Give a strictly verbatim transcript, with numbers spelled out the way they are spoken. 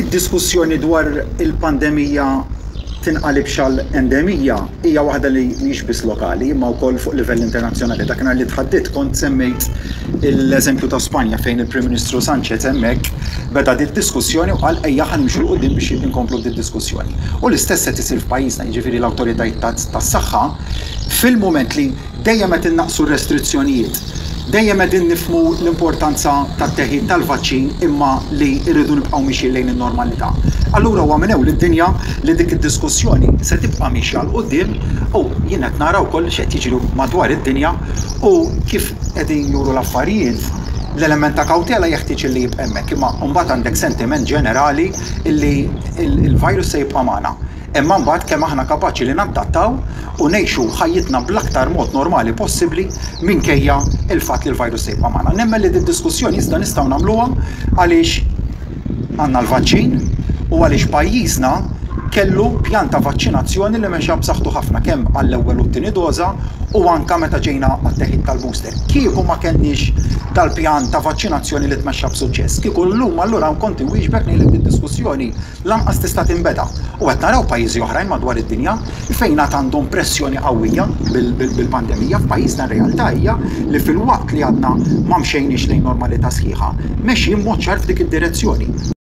Id-diskussjoni dwar il-pandemija tinqalibx għal endemija hija waħda li mhix biss lokali imma wkoll fuq livell internazzjonali. Dakinhar li tħaddit kont semmejt l-eżempju ta' Spanja fejn il-Prim Ministru Sanchez hemmhekk beda dit diskussjoni u qal ejja ħa nimxu 'l quddiem biex inkomplu dit diskussjoni. U l-istess qed isir f'pajjiżna, jiġifieri l-awtoritajiet tas-saħħa fil-mument li dejjem qed innaqsu r-restrizzjonijiet, dejjem qegħdin nifhmu l-importanza tat-teħid tal-vaċċin imma li rridu nibqgħu mixjin lejn in-normalità. Allura huwa minn ewl id-dinja li dik id-diskussjoni se tibqa' mixja 'l quddiem u jien qed nara wkoll x'qed jiġri madwar id-dinja u kif qegħdin juru l-affarijiet. L-element ta' kawtela jeħtieġ li jibqa' hemmhekk, imma mbagħad għandek sentiment ġenerali li l-virus se jibqa' magħna. Imma mbagħad kemm aħna kapaċi li nadattaw u ngħixu ħajjitna bl-aktar mod normali possibbli minkejja il-fatt li l-virus se jibqa' magħna. Nemmen li d-diskussjoni iżda nistgħu nagħmluha għaliex għandna l-vaċċin u għaliex pajjiżna kellu pjan ta' vaċċinazzjoni li mexa b'saħħtu ħafna kemm għall-ewwel u t-tieni doża u anka meta ġejna għat-teħid tal-booster. Kieku ma kellniex dal-pjan ta' vaċċinazzjoni li tmexxa b'suċċess, kieku llum allura kont inwieġbek ngħidlek id-diskussjoni lanqas tista' tinbeda. U qed naraw pajjiżi oħrajn madwar id-dinja fejn għad għandhom pressjoni qawwija bil-pandemija. F'pajjiżna r-realtà hija li filwaqt li għadna ma mxejniex lejn normalità sħiħa, mexjin mod ċar f'dik id-direzzjoni.